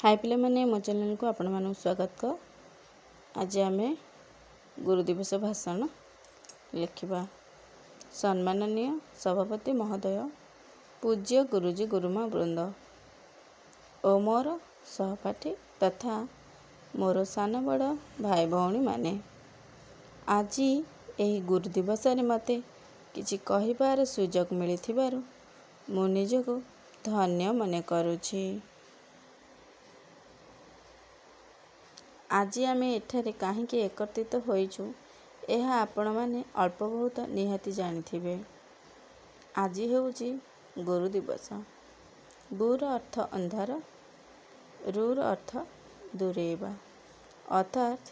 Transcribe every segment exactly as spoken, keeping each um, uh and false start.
High ପିଲାମାନେ, ମୋ ଚ୍ୟାନେଲକୁ ଆପଣମାନଙ୍କୁ ସ୍ୱାଗତ। ଆଜି ଆମେ ଗୁରୁ ଦିବସ ଭାଷଣ ଲେଖିବା। ସମ୍ମାନନୀୟ ସଭାପତି ମହୋଦୟ, ପୂଜ୍ୟ ଗୁରୁଜୀ ଗୁରୁମା ବୃନ୍ଦ ଓ ମୋର ସହପାଠୀ ତଥା ମୋର ସାନ ବଡ଼ ଭାଇ ଭଉଣୀମାନେ, ଆଜି ଏହି ଗୁରୁ ଦିବସରେ ମୋତେ କିଛି କହିବାର ସୁଯୋଗ ମିଳିଥିବାରୁ ମୁଁ ନିଜକୁ ଧନ୍ୟ ମନେ କରୁଛି। ଆଜି ଆମେ ଏଠାରେ କାହିଁକି ଏକତ୍ରିତ ହୋଇଛୁ, ଏହା ଆପଣମାନେ ଅଳ୍ପ ବହୁତ ନିହାତି ଜାଣିଥିବେ। ଆଜି ହେଉଛି ଗୁରୁ ଦିବସ। ଗୁର ଅର୍ଥ ଅନ୍ଧାର, ରୁର ଅର୍ଥ ଦୂରେଇବା, ଅର୍ଥାତ୍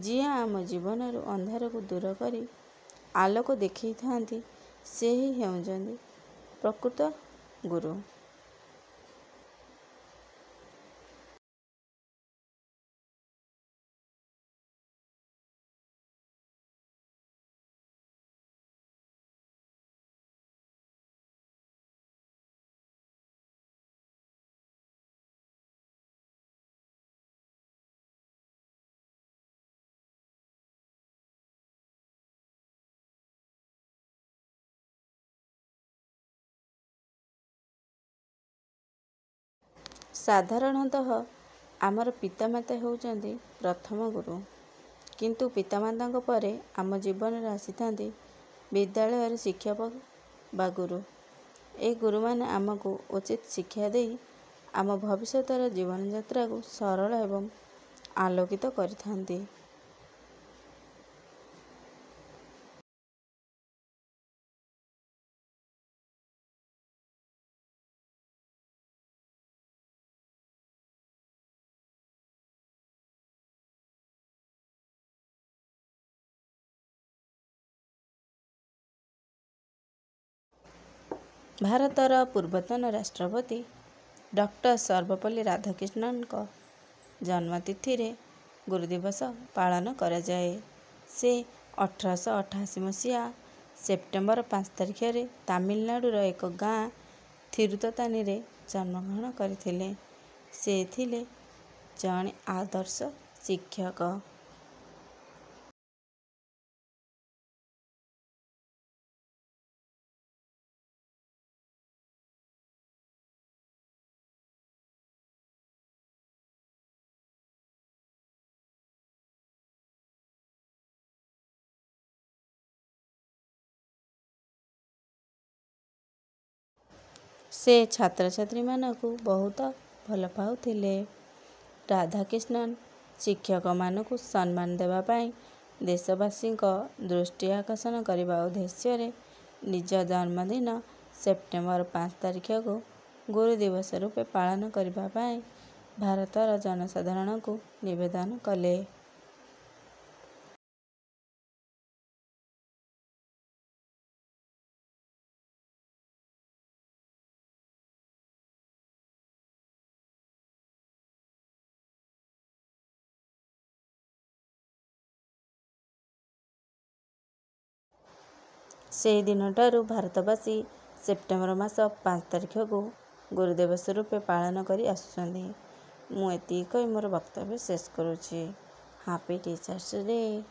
ଯିଏ ଆମ ଜୀବନରୁ ଅନ୍ଧାରକୁ ଦୂର କରି ଆଲୋକ ଦେଖେଇଥାନ୍ତି, ସେ ହିଁ ହେଉଛନ୍ତି ପ୍ରକୃତ ଗୁରୁ। ସାଧାରଣତଃ ଆମର ପିତାମାତା ହେଉଛନ୍ତି ପ୍ରଥମ ଗୁରୁ, କିନ୍ତୁ ପିତାମାତାଙ୍କ ପରେ ଆମ ଜୀବନରେ ଆସିଥାନ୍ତି ବିଦ୍ୟାଳୟର ଶିକ୍ଷକ ବା ଗୁରୁ। ଏହି ଗୁରୁମାନେ ଆମକୁ ଉଚିତ ଶିକ୍ଷା ଦେଇ ଆମ ଭବିଷ୍ୟତର ଜୀବନଯାତ୍ରାକୁ ସରଳ ଏବଂ ଆଲୋକିତ କରିଥାନ୍ତି। ଭାରତର ପୂର୍ବତନ ରାଷ୍ଟ୍ରପତି ଡକ୍ଟର ସର୍ବପଲ୍ଲୀ ରାଧାକ୍ରିଷ୍ଣନଙ୍କ ଜନ୍ମତିଥିରେ ଗୁରୁ ଦିବସ ପାଳନ କରାଯାଏ। ସେ ଅଠରଶହ ଅଠାଅଶୀ ମସିହା ସେପ୍ଟେମ୍ବର ପାଞ୍ଚ ତାରିଖରେ ତାମିଲନାଡ଼ୁର ଏକ ଗାଁ ଥିରୁତତାନୀରେ ଜନ୍ମଗ୍ରହଣ କରିଥିଲେ। ସେ ଥିଲେ ଜଣେ ଆଦର୍ଶ ଶିକ୍ଷକ। ସେ ଛାତ୍ରଛାତ୍ରୀମାନଙ୍କୁ ବହୁତ ଭଲ ପାଉଥିଲେ। ରାଧାକ୍ରିଷ୍ଣନ ଶିକ୍ଷକମାନଙ୍କୁ ସମ୍ମାନ ଦେବା ପାଇଁ ଦେଶବାସୀଙ୍କ ଦୃଷ୍ଟି ଆକର୍ଷଣ କରିବା ଉଦ୍ଦେଶ୍ୟରେ ନିଜ ଜନ୍ମଦିନ ସେପ୍ଟେମ୍ବର ପାଞ୍ଚ ତାରିଖକୁ ଗୁରୁ ଦିବସ ରୂପେ ପାଳନ କରିବା ପାଇଁ ଭାରତର ଜନସାଧାରଣଙ୍କୁ ନିବେଦନ କଲେ। ସେହି ଦିନଠାରୁ ଭାରତବାସୀ ସେପ୍ଟେମ୍ବର ମାସ ପାଞ୍ଚ ତାରିଖକୁ ଗୁରୁ ଦିବସ ରୂପେ ପାଳନ କରି ଆସୁଛନ୍ତି। ମୁଁ ଏତିକି କହି ମୋର ବକ୍ତବ୍ୟ ଶେଷ କରୁଛି। Happy teachers day.